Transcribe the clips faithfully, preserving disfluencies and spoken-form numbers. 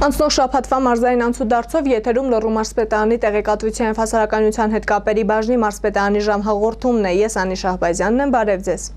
Անցնող շաբաթվա մարզային անցուդարձով եթերում Լոռու մարզպետարանի տեղեկատվության և հասարակայնության հետ կապերի բաժնի մարզպետարանի ժամհաղորդումն է։ Ես Անի Շահբազյանն եմ, բարև ձեզ։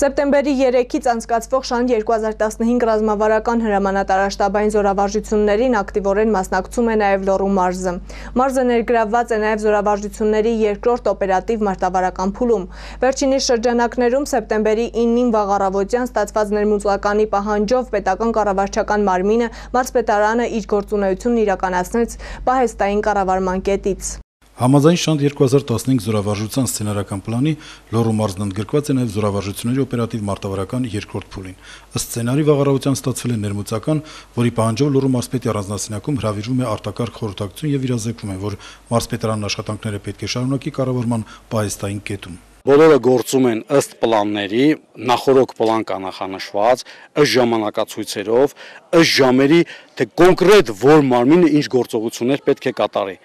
Սեպտեմբերի երեքից անցկացվող շանթ երկու հազար տասնհինգ ռազմավարական հրամանատարաշտաբային զորավարժություններին ակտիվորեն մասնակցում է նաև Լոռու մարզը։ Մարզը ներգրավված է նաև զորավարժությունների երկրորդ օպերատիվ մարտավարական փուլում։ Վերջինիս շրջանակներում սեպտեմբերի իննին վաղ առավոտյան ստացված ներմուծականի պահանջով պետական կառավարչական մարմինը մարզպետարանը իր գործունեությունն իրականացնեց պահեստային կառավարման կետից։ Համաձայն շանթ երկու հազար տասնհինգ զորավարժության սցենարական պլանի Լոռու մարզն ընդգրկված է նաև զորավարժությունների օպերատիվ մարտավարական երկրորդ փուլին։ Ըստ սցենարի վաղ առավոտյան ստացվել է ներմուծական, որի պահանջով Լոռու մարզպետի առանձնասենյակում հրավիրվում է արտակարգ խորհրդակցություն եւ իրազեկվում է, որ մարզպետարանն աշխատանքները պետք է շարունակի կառավարման պահեստային կետում։ Բոլորը գործում են ըստ պլանների, նախորոք պլան կա նախանշված, ըստ ժամանակացույցերով, ըստ ժամերի, թե կոնկրետ որ մարմինը ինչ գործողություններ պետք է կատարի։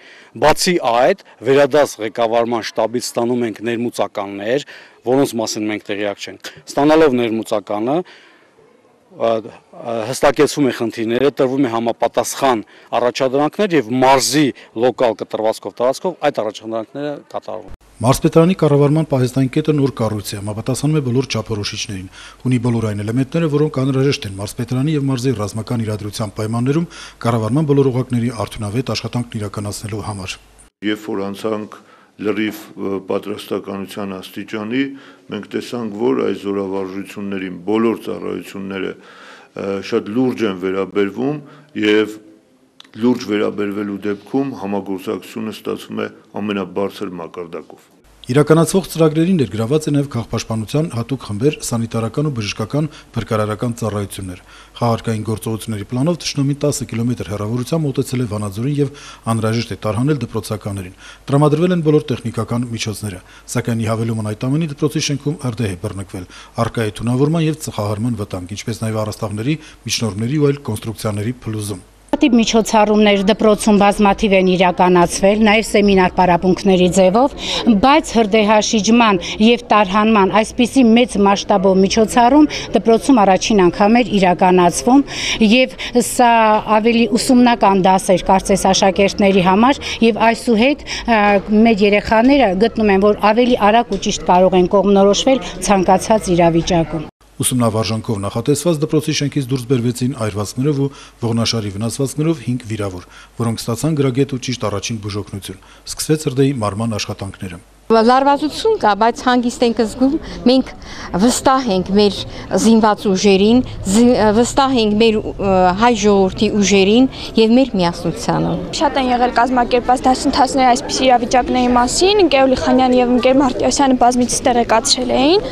Բացի այդ, վերադաս ղեկավարման շտաբից ստանում ենք ներմուծականներ, որոնց մասին մենք տեղյակ չենք։ Ստանալով ներմուծականը, հստակեցվում է խնդիրները, տրվում է համապատասխան առաջադրանքներ եւ մարզի լոկալ կտրվածքով տարածքով այդ առաջադրանքները կատարվում։ Մարզպետարանի կառավարման պահեստային կետը նոր կառույց է, համապատասխանում է բոլոր չափորոշիչներին, ունի բոլոր այն էլեմենտները, որոնք անհրաժեշտ են մարզպետարանի եւ մարզի ռազմական իրադրության պայմաններում կառավարման բոլոր օղակների արդյունավետ աշխատանքն իրականացնելու համար։ Երբ որ անցանք լրիվ պատրաստականության աստիճանի, մենք տեսանք, որ այս զորավարժություններին բոլոր ծառայությունները շատ լուրջ են վերաբերվում եւ լուրջ վերաբերվելու դեպքում համագործակցությունը ստացվում է ամենաբարձր մակարդակով։ Իրականացվող ծրագրերին ներգրաված է նաև քաղաքապաշտպանության հատուկ խմբեր, սանիտարական ու բժշկական փրկարարական ծառայություններ։ Խաղարկային գործողությունների պլանով թշնամին տասը կիլոմետր հեռավորությամբ մոտեցել է Վանաձորին եւ անհրաժեշտ է տարհանել դպրոցականներին։ Տրամադրվել են բոլոր տեխնիկական միջոցները, սակայն ի հավելումն այդ ամենի դպրոցի շենքում ըրդեհ է բռնկվել, առկա է թունավորման եւ ծխահարման վտանգ, ինչպես նաեւ առաստաղների, միջնորդների ու այլ կոնստրուկցիաների փլուզում։ Տիպ միջոցառումներ դպրոցում բազմաթիվ են իրականացվել, նաև սեմինար պարապմունքների ձևով, բայց հրդեհաշիջման եւ տարհանման այսպիսի մեծ մասշտաբով միջոցառում դպրոցում առաջին անգամ էր իրականացվում եւ սա ավելի ուսումնական դաս էր կարծես աշակերտների համար եւ այսուհետ մեր երեխաները գտնում են, որ ավելի արագ ու ճիշտ կարող են կողմնորոշվել ցանկացած իրավիճակում։ Ուսումնավարժանքով նախատեսված դպրոցի շենքից դուրս բերվեցին այրվածքներով ու ողնաշարի վնասվածքներով հինգ վիրավոր, որոնք ստացան գրագետ ու ճիշտ առաջին բուժօգնություն։ Սկսվեց հրդեհի մարման աշխատանքները։ Լարվածություն կա, բայց հանգիստ ենք զգում, մենք վստահ ենք մեր զինված ուժերին, վստահ ենք մեր հայ ժողովրդի ուժերին եւ մեր միասնությանը։ Շատ են եղել կազմակերպված դասընթացներ այսպիսի իրավիճակների մասին, Գեորգ Լիխանյանը եւ Ընկեր Մարտիրոսյանը բազմիցս տեղեկացրել էին։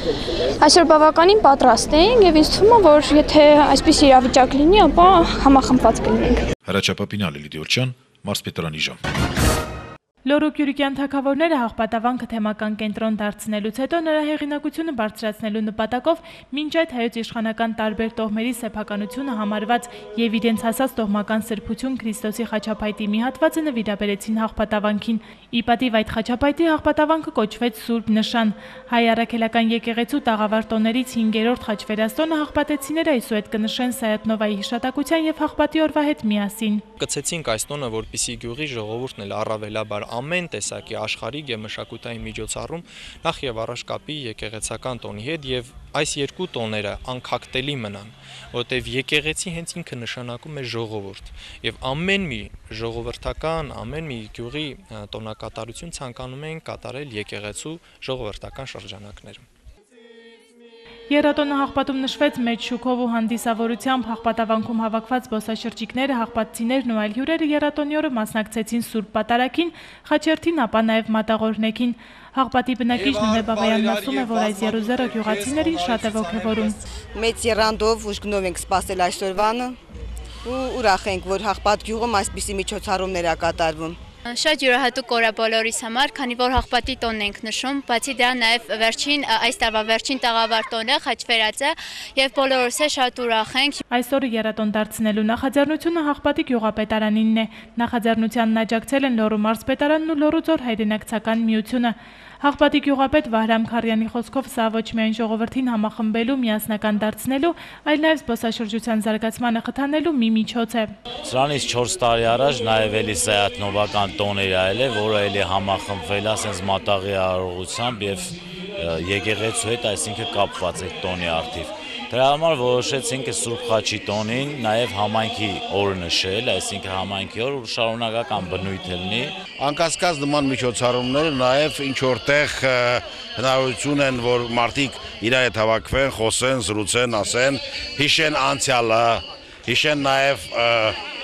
Այսօր բավականին պատրաստ ենք եւ ինձ թվում է, որ եթե այսպիսի իրավիճակ լինի, ապա համախմբված կլինենք։ Հրաչյա Պապինյան, Լիլիթ Գևորգյան, մարզպետարանի ժամ։ Լոռու Գյուղական թագավորները հաղպատավանքը թեմական կենտրոն դարձնելուց հետո նրա հեղինակությունը բարձրացնելու նպատակով մինչ այդ հայոց իշխանական տարբեր տոհմերի սեփականությունը համարված եւ իրենց հասած տոհմական սրբություն Քրիստոսի խաչապայտի մի հատվածը նվիրաբերեցին հաղպատավանքին։ Ի պատիվ այդ խաչապայտի հաղպատավանքը կոչվեց Սուրբ Նշան։ Հայ առաքելական եկեղեցու տաղավար տոներից հինգերորդ խաչվերաստոնը հաղպատեցիները այսուհետ կնշեն Սայաթնովայի հիշատակության եւ հաղպատի օրվա հետ միասին։ Կցեցինք այս տոնը, որպեսզի գյուղի ժողովուրդն էլ առավելաբար ամեն տեսակի աշխարհիկ եւ մշակութային միջոցառում նախ եւ առաջ կապի եկեղեցական տոնի հետ եւ այս երկու տոները անքակտելի մնան, որտեւ եկեղեցի հենց ինքը նշանակում է ժողովուրդ եւ ամեն մի ժողովրդական, ամեն մի գյուղի տոնակատարություն ցանկանում են կատարել եկեղեցու ժողովրդական շրջանակներում։ Եռատոնը հաղպատում նշվեց մեծ շուքով ու հանդիսավորությամբ, հաղպատավանքում հավաքված զբոսաշրջիկները, հաղպատցիներն ու այլ հյուրերը եռատոնի օրը մասնակցեցին Սուրբ Պատարագին, խաչերթին, ապա նաև մատաղորնեքին։ Հաղպատի բնակիչ Նունե Բաբայանն ասում է, որ այս եռուզեռը գյուղացիներին շատ է ոգևորում։ Մեծ եռանդով ուժգնով ենք սպասել այսօրվանը ու ուրախ ենք, որ Հաղպատ գյուղում այսպիսի միջոցառումներ է կատարվում։ Շատ յուրահատուկ օր է բոլորիս համար, քանի որ Հաղպատի տոնն ենք նշում, բացի դրա նաև վերջին այս տարվա վերջին տաղավար տոնը խաչվերած է եւ բոլորս է շատ ուրախ ենք։ Այսօրը եռատոն դարձնելու նախաձեռնությունը Հաղպատի գյուղապետարանինն է։ Նախաձեռնությանն աջակցել են Լոռու մարզպետարանն ու Լոռու ձոր հայրենակցական միությունը։ Հաղպատի գյուղապետ Վահրամ Քարյանի խոսքով սա ոչ միայն ժողովրդին համախմբելու, միասնական դարձնելու, այլ նաև զբոսաշրջության զարգացմանը խթանելու մի միջոց է։ Սրանից չորս տարի առաջ նաև էլի սայատնովական տոներ այլ է, որը էլի համախմբվել է ասենց մատաղի արարողությամբ եւ եկեղեցու հետ, այսինքն կապված այդ տոնի արդիվ։ Դրա համար որոշեցինք Սուրբ Խաչի տոնին նաև համայնքի օրը նշել, այսինքն համայնքի օր շարունակական բնույթ լինի։ Անկասկած նման միջոցառումները նաև ինչ որտեղ հնարավորություն են, որ մարդիկ իրար հետ հավաքվեն, խոսեն, զրուցեն, ասեն, հիշեն անցյալը, հիշեն նաև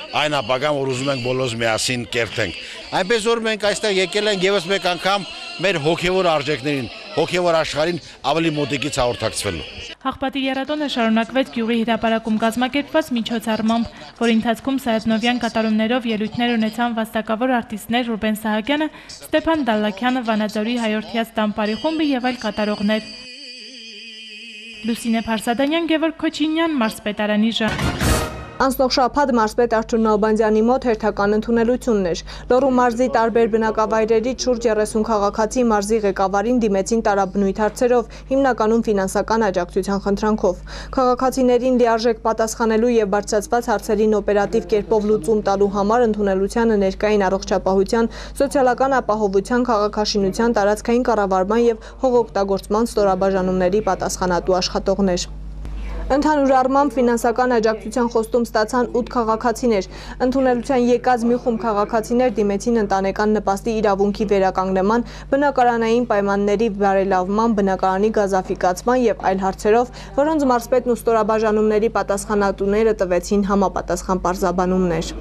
այն ապագան, որ ուզում ենք բոլորս միասին կերտենք։ Այնպես որ մենք այստեղ եկել ենք եւս մեկ անգամ մեր հոգեվոր արժեքներին, հոգեվոր աշխարհին ավելի մոտիկից հաղորդակցվելու։ Հաղպատի եռատոնը շարունակվեց գյուղի հրապարակում կազմակերպված միջոցառմամբ, որի ընթացքում Սայատնովյան կատարումներով ելույթներ ունեցան վաստակավոր արտիստներ Ռուբեն Սահակյանը, Ստեփան Դալլաքյանը, Վանաձորի հայորդյաց տամպարի խումբը եւ այլ կատարողներ։ Լուսինե Փարսադանյան, Գևորգ Քոչինյան, մարզպետարանի ժամ։ Անցնող շաբաթ մարզպետ Արթուր Նալբանդյանի մոտ հերթական ընդունելությունն էր։ Լոռու մարզի տարբեր բնակավայրերից շուրջ երեսուն քաղաքացի մարզի ղեկավարին դիմեցին տարաբնույթ հարցերով, հիմնականում ֆինանսական աջակցության խնդրանքով։ Քաղաքացիներին լիարժեք պատասխանելու եւ բարձրացված հարցերին օպերատիվ կերպով լուծում տալու համար ընդունելությանը ներկային առողջապահության, սոցիալական ապահովության, քաղաքաշինության, տարածքային կառավարման եւ հողօգտագործման ստորաբաժանումների պատասխանատու աշխատողներ։ Ընդհանուր առմամբ ֆինանսական աջակցության խոստում ստացան ութ քաղաքացիներ։ Ընդունելության եկած մի խումբ քաղաքացիներ դիմեցին ընտանեկան նպաստի իրավունքի վերականգնման, բնակարանային պայմանների բարելավման, բնակարանի գազաֆիկացման եւ այլ հարցերով, որոնց մարզպետն ու ստորաբաժանումների պատասխանատուները տվեցին համապատասխան պարզաբանումներ։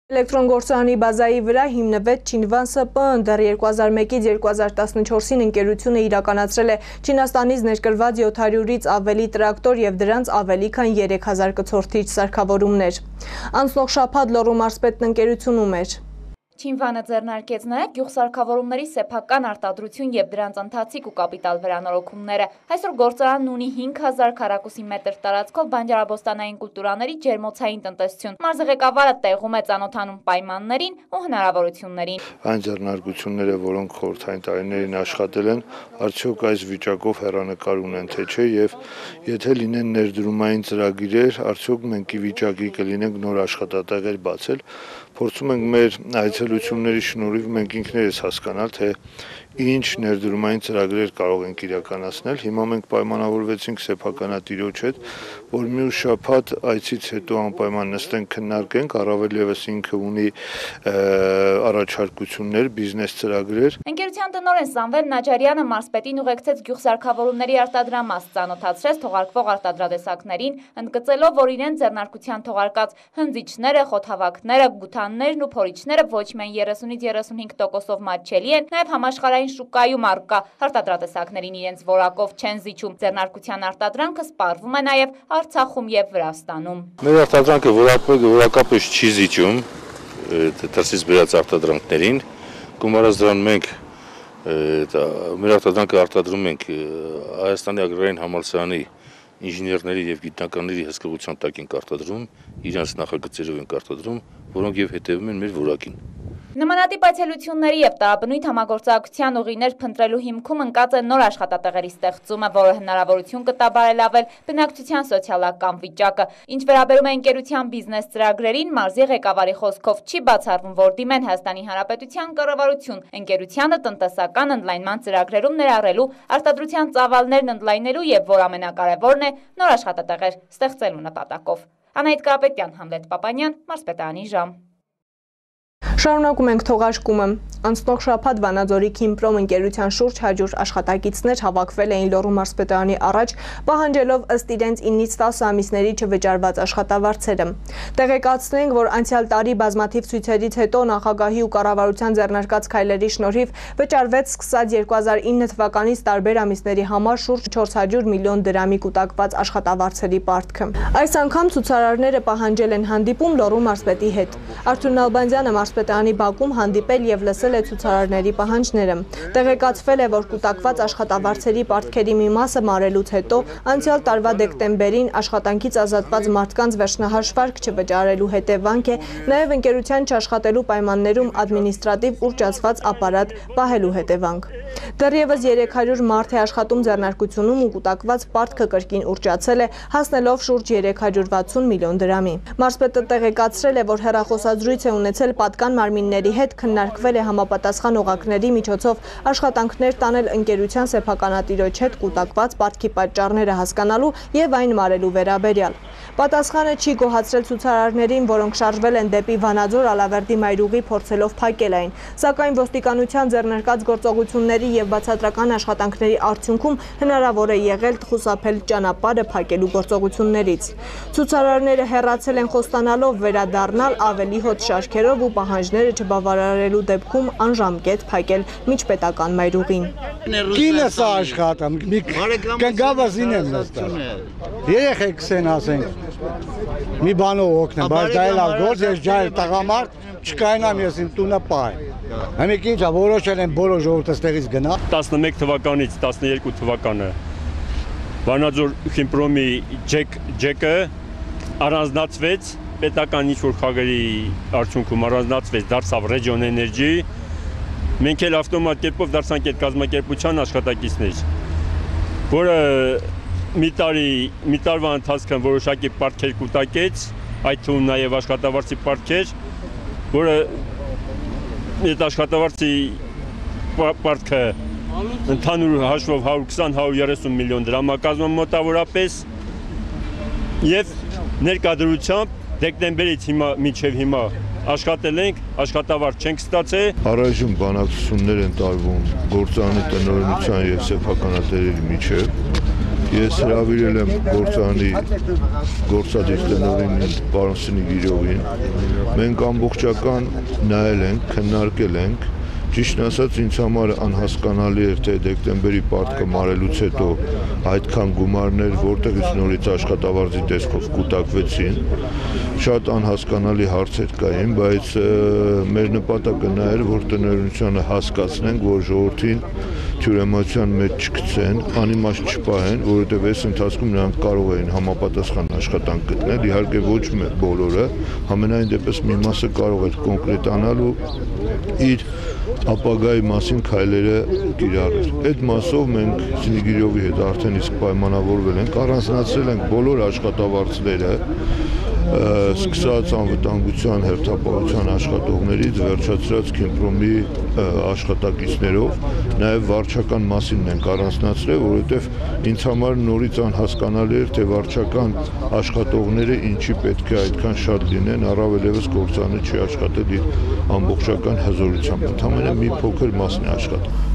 Էլեկտրոնգործարանի բազայի վրա հիմնվեց Չինվան ՍՊԸ-ն, դեռ երկու հազար մեկից երկու հազար տասնչորսին ընկերությունը իրականացրել է Չինաստանից ներկրված յոթ հարյուրից ավելի տրակտոր եւ դրանց ավելի քան երեք հազար կցորդիչ սարքավորումներ։ Անցնող շաբաթ Լոռու մարզպետն ընկերությունում էր։ Չինվանը ձեռնարկեց նաև գյուղսարքավորումների սեփական արտադրություն եւ դրանց ընթացիկ ու կապիտալ վերանորոգումները։ Այսօր գործարանն ունի հինգ հազար քառակուսի մետր տարածքով բանջարաբոստանային կուլտուրաների ջերմոցային տնտեսություն։ Մարզի ղեկավարը տեղում է ծանոթանում պայմաններին ու հնարավորություններին։ Այն ձեռնարկությունները, որոնք խորհրդային տարիներին աշխատել են, արդյոք այս վիճակով հեռանկար ունեն թե չէ եւ եթե լինեն ներդրումային ծրագիրեր, արդյոք մենք ի վիճակի կլինենք նոր աշխատատեղեր բացել։ Փորձում ենք մեր այցելությունների շնորհիվ մենք ինքներս հասկանալ, թե ինչ ներդրումային ծրագրեր կարող ենք իրականացնել։ Հիմա մենք պայմանավորվեցինք սեփականատիրոջ հետ, որ մյուս շաբաթ այցից հետո անպայման նստենք քննարկենք, առավել եւս ինքը ունի առաջարկություններ, բիզնես ծրագրեր։ Ընկերության տնօրեն Սամվել Նաջարյանը մարզպետին ուղեկցեց գյուղսարքավորումների արտադրամաս, ծանոթացրեց թողարկվող արտադրատեսակներին, ընդգծելով, որ իրեն ձեռնարկության թողարկած հնձիչները, խոթավակները, գութաններն ու փորիչները ոչ միայն երեսունից երեսունհինգ տոկոսով մատչելի են, նաև համաշխարհային շուկայում առկա արտադրատեսակներին իրենց որակով չեն զիջում։ Ձեռնարկության արտադրանքը սպառվում է նաև Արցախում եւ Վրաստանում։ Մեր արտադրանքը որակապես չի զիջում դրսից բերած արտադրանքներին, գումարած դրան մենք մեր արտադրանքը արտադրում ենք Հայաստանի ագրարային համալսարանի ինժեներների եւ գիտնականների հսկողության տակ ենք արտադրում, իրենց նախագծերով ենք արտադրում, որոնք եւ հետեւում են մեր որակին։ Նմանատիպ այցելությունների եւ տարաբնույթ համագործակցության ուղիներ փնտրելու հիմքում ընկած է նոր աշխատատեղերի ստեղծումը, որը հնարավորություն կտա բարելավել բնակչության սոցիալական վիճակը։ Ինչ վերաբերում է ընկերության բիզնես ծրագրերին, մարզի ղեկավարի խոսքով չի բացառվում, որ դիմեն Հայաստանի Հանրապետության կառավարություն ընկերությանը տնտեսական ընդլայնման ծրագրերում ներառելու, արտադրության ծավալներն ընդլայնելու եւ որ ամենակարևորն է, նոր աշխատատեղեր ստեղծելու նպատակով։ Անահիտ Կարապետյան, Համլետ Պապանյան, մարզպետարանի ժամ։ Շարունակում ենք թողարկումը։ Անցնող շաբաթ Վանաձորի Քիմպրոմ ընկերության շուրջ հարյուր աշխատակիցներ հավաքվել էին Լոռու մարզպետարանի առաջ, պահանջելով ըստ իրենց ինից տասը ամիսների չվճարված աշխատավարձերը։ Տեղեկացնենք, որ անցյալ տարի բազմաթիվ ցույցերից հետո նախագահի ու կառավարության ձեռնարկած քայլերի շնորհիվ վճարվեց սկսած երկու հազար ինը թվականից տարբեր ամիսների համար շուրջ չորս հարյուր միլիոն դրամի կուտակված աշխատավարձերի պարտքը։ Այս անգամ ցուցարարները պահանջել են հանդիպում Լոռու մարզպետի հետ։ Արթուր Նալբանդյանը մարզպետ մարզպետարանի բակում հանդիպել եւ լսել է ցուցարարների պահանջները։ Տեղեկացվել է, որ կուտակված աշխատավարձերի պարտքերի մի մասը մարելուց հետո անցյալ տարվա դեկտեմբերին աշխատանքից ազատված մարդկանց վերջնահաշվարկ չվճարելու հետևանք է, նաեւ ընկերության չաշխատելու պայմաններում ադմինիստրատիվ ուռճացված ապարատ պահելու հետևանք։ Դեռևս երեք հարյուր մարդ է աշխատում ձեռնարկությունում ու կուտակված պարտքը կրկին ուռճացել է, հասնելով շուրջ երեք հարյուր վաթսուն միլիոն դրամի։ Մարզպետը տեղեկացրել է, որ հեռախոսազրույց է ունեցել պատկան մարմինների հետ, քննարկվել է համապատասխան օղակների միջոցով աշխատանքներ տանել ընկերության սեփականատիրոջ հետ կուտակված պարտքի պատճառները հասկանալու եւ այն մարելու վերաբերյալ։ Պատասխանը չի գոհացրել ցուցարարներին, որոնք շարժվել են դեպի Վանաձոր Ալավերդի մայրուղի փորձելով փակել այն, սակայն ոստիկանության ձեռնարկած գործողությունների եւ բացատրական աշխատանքների արդյունքում հնարավոր է եղել խուսափել ճանապարհը փակելու գործողություններից։ Ցուցարարները հեռացել են խոստանալով վերադառնալ ավելի հոտ շարքերով ու պահանջները չբավարարելու դեպքում անժամկետ փակել միջպետական մայրուղին։ Կինս աշխատում, մի կնգավազին եմ նստած։ Երեխեքս են ասենք, մի բանով օգնեմ, բայց դա էլ ագործ, ես ջայլ տղամարդ, չկայնամ ես իմ տունը պահեմ։ Համեք ինչա, որոշել են բոլոր ժողովուրդը ստեղից գնա։ տասնմեկ թվականից տասներկու թվականը Վանաձոր Խիմպրոմի ջեկը առանձնացվեց, պետական ինչ-որ խաղերի արդյունքում առանձնացվեց, դարձավ Region Energy, մենք էլ ավտոմատ կերպով դարձանք այդ կազմակերպության աշխատակիցներ, որը մի տարի, մի տարվա ընթացքում որոշակի պարտքեր կուտակեց, այդ թվում նաև աշխատավարձի պարտքեր, որը այդ աշխատավարձի պարտքը ընդհանուր հաշվով հարյուր քսան հարյուր երեսուն միլիոն դրամ կազմում մոտավորապես եւ ներկայությամբ դեկտեմբերից հիմա մինչեւ հիմա աշխատել ենք, աշխատավարձ չենք ստացել։ Առայժմ բանակցություններ են տարվում գործարանի տնօրինության եւ սեփականատերերի միջեւ։ Ես հրավիրել եմ գործարանի գործադիր տնօրին պարոն Սնիգիրովին։ Մենք ամբողջական նայել ենք, քննարկել ենք։ Ճիշտն ասած, ինձ համար անհասկանալի էր, թե դեկտեմբերի պարտքը մարելուց հետո այդքան գումարներ որտեղից նորից աշխատավարձի տեսքով կուտակվեցին։ Շատ անհասկանալի հարցեր կային, բայց մեր նպատակը նա էր, որ տնօրինությանը հասկացնենք, որ ժողովրդին թյուրեմացության մեջ չգցեն, անիմաստ չպահեն, որովհետև այս ընթացքում նրանք կարող էին համապատասխան աշխատանք գտնել, իհարկե ոչ բոլորը, համենայն դեպս մի մասը կարող էր կոնկրետանալ ու իր ապագայի մասին քայլերը կիրառել։ Այդ մասով մենք Սնիգիրովի հետ արդեն իսկ պայմանավորվել ենք, առանձնացրել ենք բոլոր աշխատավարձները, սկսած անվտանգության հերթապահության աշխատողներից վերջացրած Քիմպրոմի աշխատակիցներով, նաև վարչական մասին ենք առանձնացրել, որովհետև ինձ համար նորից անհասկանալի էր, թե վարչական աշխատողները ինչի պետք է այդքան շատ լինեն, առավել ևս գործարանը չի աշխատել իր ամբողջական հզորությամբ, ընդամենը մի փոքր մասն է աշխատել։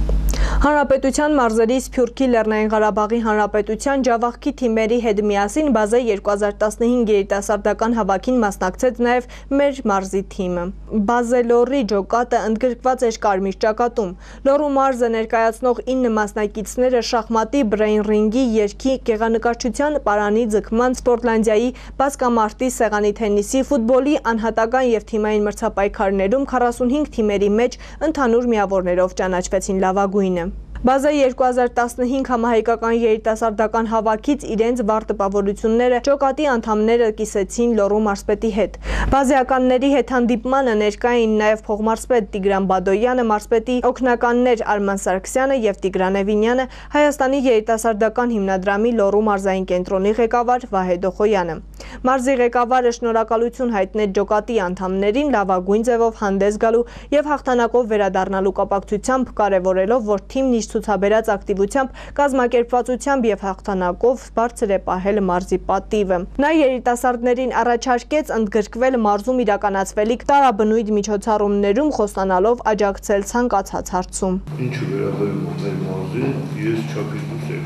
Հանրապետության մարզերի Սփյուռքի Լեռնային Ղարաբաղի Հանրապետության ջավախքի թիմերի հետ միասին բազե երկու հազար տասնհինգ երիտասարդական հավաքին մասնակցեց նաև մեր մարզի թիմը։ Բազելորի ջոկատը ընդգրկված էր կարմիր ճակատում։ Լոռու մարզը ներկայացնող ինը մասնակիցները շախմատի, բրեյն ռինգի, երգի, գեղանկարչության, պարանի ձգման, Սպորտլանդիայի, բասկամարտի, սեղանի թենիսի, ֆուտբոլի, անհատական եւ թիմային մրցապայքարներում քառասունհինգ թիմերի մեջ ընդհանուր միավորներով ճանաչվեցին լավագույնը։ Բազա երկու հազար տասնհինգ համահայկական երիտասարդական հավաքից իրենց վառ տպավորությունները ջոկատի անդամները կիսեցին Լոռու մարզպետի հետ։ Բազեականների հետ հանդիպմանը ներկա էին նաև փողմարզպետ Տիգրան Բադոյանը, մարզպետի օգնականներ Արման Սարգսյանը եւ Տիգրան Էվինյանը, Հայաստանի երիտասարդական հիմնադրամի Լոռու մարզային կենտրոնի ղեկավար Վահե Դոխոյանը։ Մարզի ղեկավարը շնորհակալություն հայտնեց ջոկատի անդամներին լավագույն ձևով հանդես գալու եւ հաղթանակով վերադառնալու կապակցությամբ, կարեւորելով, որ թիմն իր ցուցաբերած ակտիվությամբ, կազմակերպվածությամբ եւ հաղթանակով բարձր է պահել մարզի պատիվը։ Նա երիտասարդներին առաջարկեց ընդգրկվել մարզում իրականացվելիք տարաբնույթ միջոցառումներում, խոստանալով աջակցել ցանկացած հարցում։ Ինչը վերաբերում է մեր մարզին, ես չափից դուրս եմ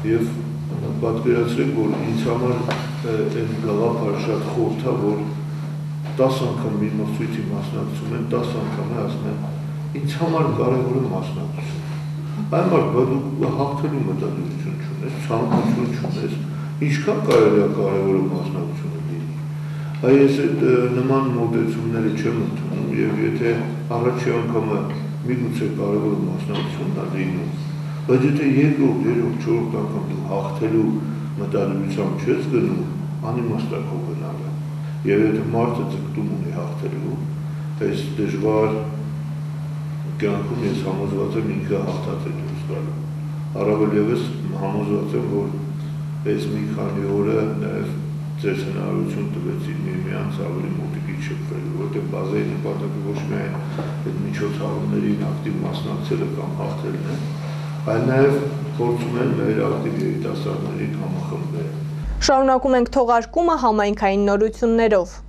եւ պատկերացրեք, որ ինձ համար այն գաղափարը շատ խորհուրդ է, որ տասը անգամ մի մրցույթի մասնակցում են, տասը անգամ ասում են, ինձ համար կարևորը մասնակցություն։ Այն մարդ, բա դու հաղթելու մտադրություն չունես, ցանկություն չունես, ինչքան կարելի է կարևորը մասնակցությունը լինի։ Այս այդ նման մոտեցումները չեմ ընդունում եւ եթե առաջի անգամը միգուցե կարևոր մասնակցությունն է լինում, բայց եթե երկրորդ, երրորդ, չորրորդ անգամ դու հաղթելու մտադրությամբ չես գնում, անիմաստ է քո գնալը։ Եվ եթե մարդը ձգտում ունի հաղթելու, այս դժվար կյանքում ես համոզված եմ ինքը հաղթած է դուրս գալու։ Առավել ևս համոզված եմ, որ այս մի քանի օրը նաև ձեր հնարավորություն տվեցին միմյանց ավելի մոտիկից շփվելու, որտեղ բազայի նպատակը ոչ միայն այդ միջոցառումներին ակտիվ մասնակցելը կամ հաղթելն է, այլ նաև փորձում են մեր ակտիվ երիտասարդներին համախմբել։ Շարունակում ենք թողարկումը համայնքային նորություններով։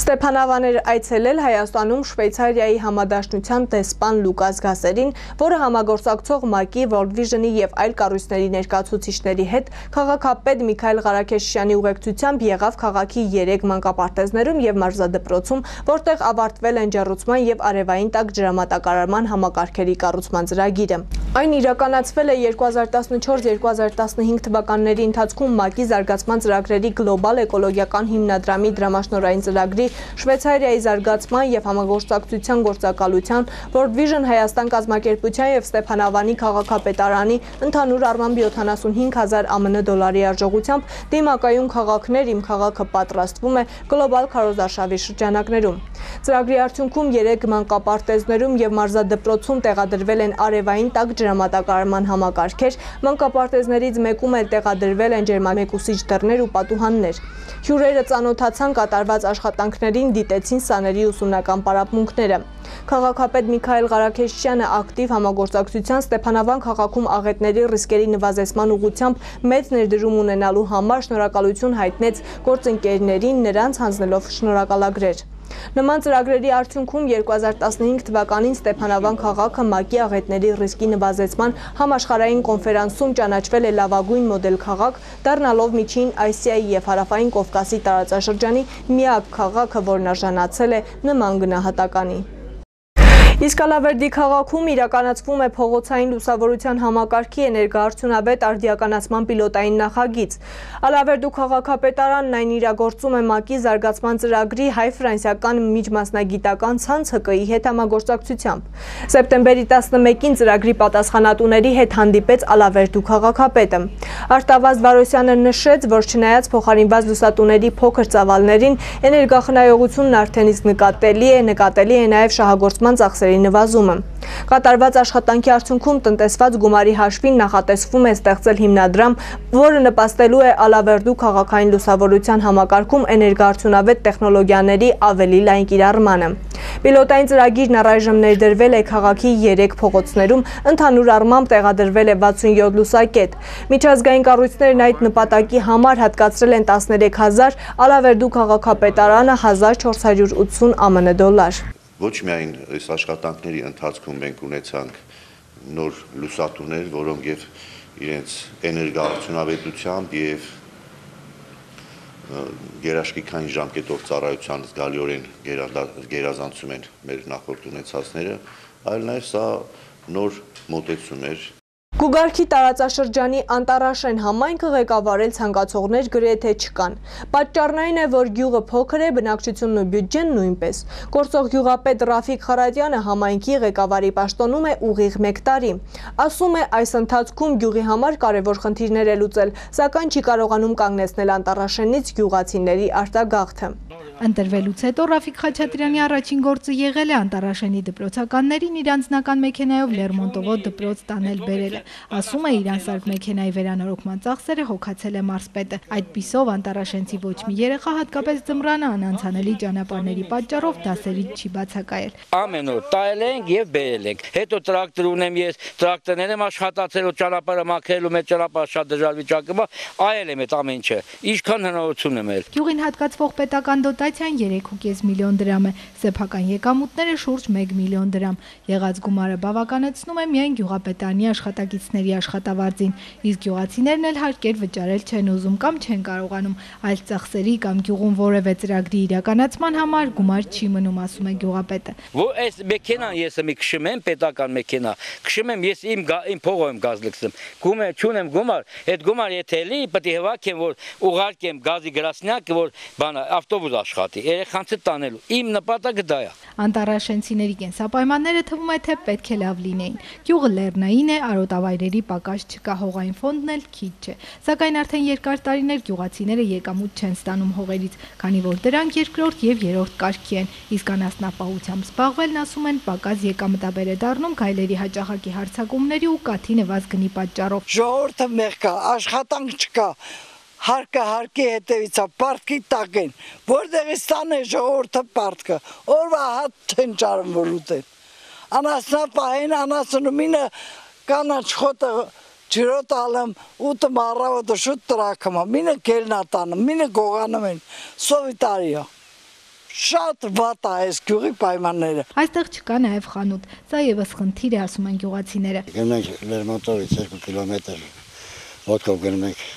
Ստեփանավան էր այցելել Հայաստանում Շվեյցարիայի համադաշնության դեսպան Լուկաս Գասերին, որը համագործակցող ՄԱԿ-ի, World Vision-ի եւ այլ կառույցների ներկայացուցիչների հետ քաղաքապետ Միքայել Ղարաքեշյանի ուղեկցությամբ եղավ քաղաքի երեք մանկապարտեզներում եւ մարզադպրոցում, որտեղ ավարտվել են ջեռուցման եւ արևային տաք ջրամատակարարման համակարգերի կառուցման ծրագիրը։ Այն իրականացվել է երկու հազար տասնչորս երկու հազար տասնհինգ թվականների ընթացքում ՄԱԿ-ի զարգացման ծրագրերի գլոբալ էկոլոգիական հիմնադրամի դրամաշնորհային ծրագրի Շվեյցարիայի զարգացման եւ համագործակցության գործակալության, World Vision Հայաստան կազմակերպության եւ Ստեփանավանի քաղաքապետարանի ընդհանուր առմամբ յոթանասունհինգ հազար ԱՄՆ դոլարի արժողությամբ դիմակայուն քաղաքներ իմ քաղաքը պատրաստվում է գլոբալ քարոզարշավի շրջանակներում։ Ծրագրի արդյունքում երեք մանկապարտեզներում եւ մարզադպրոցում տեղադրվել են արևային տաք ջրամատակարարման համակարգեր, մանկապարտեզներից մեկում էլ տեղադրվել են ջերմամեկուսիչ դռներ ու պատուհաններ։ Հյուրերը ծանոթացան կատարված աշխատանքներին, դիտեցին սաների ուսումնական պարապմունքները։ Քաղաքապետ Միքայել Ղարաքեշյանը ակտիվ համագործակցության Ստեփանավան քաղաքում աղետների ռիսկերի նվազեցման ուղղությամբ մեծ ներդրում ունենալու համար շնորհակալություն հայտնեց գործընկերներին, նրանց հանձնելով շնորհակալագրեր։ Նման ծրագրերի արդյունքում երկու հազար տասնհինգ թվականին Ստեփանավան քաղաքը ՄԱԿ-ի աղետների ռիսկի նվազեցման համաշխարհային կոնֆերանսում ճանաչվել է լավագույն մոդել քաղաք, դառնալով Միջին Ասիայի եւ Հարավային Կովկասի տարածաշրջանի միակ քաղաքը, որն արժանացել է նման գնահատականի։ Իսկ Ալավերդի քաղաքում իրականացվում է փողոցային լուսավորության համակարգի էներգոարդյունավետ արդիականացման պիլոտային նախագիծ։ Ալավերդու քաղաքապետարանն այն իրագործում է ՄԱԿ-ի զարգացման ծրագրի հայ-ֆրանսիական միջմասնագիտական ցանց Հ Կ-ի հետ համագործակցությամբ։ Սեպտեմբերի տասնմեկին ծրագրի պատասխանատուների հետ հանդիպեց Ալավերդու քաղաքապետը։ Արտավազդ Վարոսյանը նշեց, որ չնայած փոխարինված լուսատուների փոքր ծավալներին, էներգախնայողությունն արդեն իսկ նկատելի է, նկատելի է նաև շահագործման ծախսերի նվազումը։ Կատարված աշխատանքի արդյունքում տնտեսված գումարի հաշվին նախատեսվում է ստեղծել հիմնադրամ, որը նպաստելու է Ալավերդու քաղաքային լուսավորության համակարգում էներգոարդյունավետ տեխնոլոգիաների ավելի լայն կիրառմանը։ Պիլոտային ծրագիրն առայժմ ներդրվել է քաղաքի երեք փողոցներում, ընդհանուր առմամբ տեղադրվել է վաթսունյոթ լուսակետ։ Միջազգային կառույցներն այդ նպատակի համար հատկացրել են տասներեք հազար, Ալավերդու քաղաքապետարանը հազար չորս հարյուր ութսուն ԱՄՆ դոլար։ Ոչ միայն այս աշխատանքների ընթացքում մենք ունեցանք նոր լուսատուներ, որոնք եւ իրենց էներգոարդյունավետությամբ եւ գերաշխիքային ժամկետով ծառայության զգալիորեն գերազանցում են մեր նախորդ ունեցածները, այլ նաեւ սա նոր մոտեցում էր։ Գուգարքի տարածաշրջանի Անտարաշեն համայնքը ղեկավարել ցանկացողներ գրեթե չկան։ Պատճառն այն է, որ գյուղը փոքր է, բնակչությունն ու բյուջեն նույնպես։ Գործող գյուղապետ Ռաֆիկ Խարատյանը համայնքի ղեկավարի պաշտոնում է ուղիղ մեկ տարի։ Ասում է, այս ընթացքում գյուղի համար կարևոր խնդիրներ է լուծել, սակայն չի կարողանում կանգնեցնել Անտարաշենից գյուղացիների արտագաղթը։ Ընտրվելուց հետո Ռաֆիկ Խաչատրյանի առաջին գործը եղել է Անտարաշենի դպրոցականներին իր անձնական մեքենայով Լերմոնտովոտ դպրոց տանել բերելը։ Ասում է, իր անսարք մեքենայի վերանորոգման ծախսերը հոգացել է մարզպետը։ Այդպիսով Անտարաշենցի ոչ մի երեխա, հատկապես ձմռանը անանցանելի ճանապարհների պատճառով դասերից չի բացակայել։ Ամեն օր տայել ենք եւ բերել ենք։ Հետո տրակտոր ունեմ ես, տրակտորներ եմ աշխատացել ու ճանապարհը մաքրելու մեջ ճանապարհը շատ դժվար վիճակում է, այել եմ այդ ամեն ինչը։ Ինչքան հնարավորություն եմ ել։ Գյուղին հատկացվող պետական դոտայի ինֆլացիան երեք կόμma պինգ միլիոն դրամ է, սեփական եկամուտները շուրջ մեկ միլիոն դրամ։ Եղած գումարը բավականեցնում է միայն գյուղապետարանի աշխատակիցների աշխատավարձին, իսկ գյուղացիներն էլ հարկեր վճարել չեն ուզում կամ չեն կարողանում, այլ ծախսերի կամ գյուղում որևէ ծրագրի իրականացման համար գումար չի մնում, ասում է գյուղապետը։ Որ այս մեքենան ես մի քշում եմ, պետական մեքենա, քշում եմ ես իմ իմ փողով եմ գազ լցնում։ Գումար չունեմ գումար, այդ գումար եթե լի, պետք է հվակեմ, որ ուղարկեմ գազի գրասնյակը, որ բանը ավտոբուս աշխատի, երեխանց տանելու։ Իմ նպատակը դա է։ Անտառաշենցիների կենսապայմանները թվում է թե պետք է լավ լինեին։ Գյուղը լեռնային է, արոտավայրերի պակաս չկա, հողային ֆոնդն էլ քիչ չէ։ Սակայն արդեն երկար տարիներ գյուղացիները եկամուտ չեն ստանում հողերից, քանի որ դրանք երկրորդ եւ երրորդ կարգի են, իսկ անասնապահությամբ զբաղվելն, ասում են, պակաս եկամտաբեր է դառնում գայլերի հաճախակի հարձակումների ու կաթի նվազ գնի պատճառով։ Ժողովուրդը մեղք կա, աշխատանք չկա, հարկը հարկի հետևից է, պարտքի տակ են, որտեղից տանը ժողովուրդը պարտքը, օրվա հատ չեն ճարում որ ուտեն։ Անասնապահեն, անասնումինը կանաչ խոտը ջրոտ ալեմ, ուտը մարավոտը շուտ տրակում է, մինը գելնա տանում, մինը գողանում են, սովիտարի է։ Շատ վատ է այս գյուղի պայմանները։ Այստեղ չկա նաև խանութ, սա եւս խնդիր է, ասում են գյուղացիները։ Գնում ենք Լերմոնտովից երկու կիլոմետր, ոտքով գնում ենք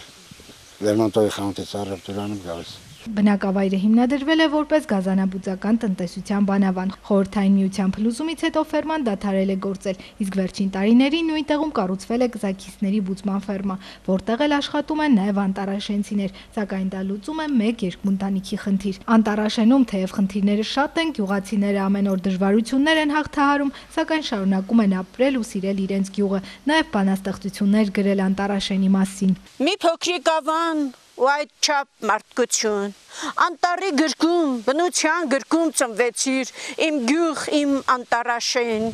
Լերմոնտովի խանութից առևտուրանում գալիս։ Բնակավայրը հիմնադրվել է որպես գազանաբուծական տնտեսության բանավան։ Խորհրդային միության փլուզումից հետո ֆերման դադարել է գործել, իսկ վերջին տարիներին նույն տեղում կառուցվել է կզաքիսների բուծման ֆերմա, որտեղ էլ աշխատում են նաև անտառաշենցիներ, սակայն դա լուծում է մեկ երկմունտանիքի խնդիր։ Անտառաշենում թեև խնդիրները շատ են, գյուղացիները ամեն օր դժվարություններ են հաղթահարում, սակայն շարունակում են ապրել ու սիրել իրենց գյուղը, նաև բանաստեղծություններ գրել անտառաշենի մասին։ Մի փոքրիկ ավան ու այդ չափ մարդկություն, անտառի գրկում, բնության գրկում ծնվեցիր, իմ գյուղ, իմ անտառաշեն,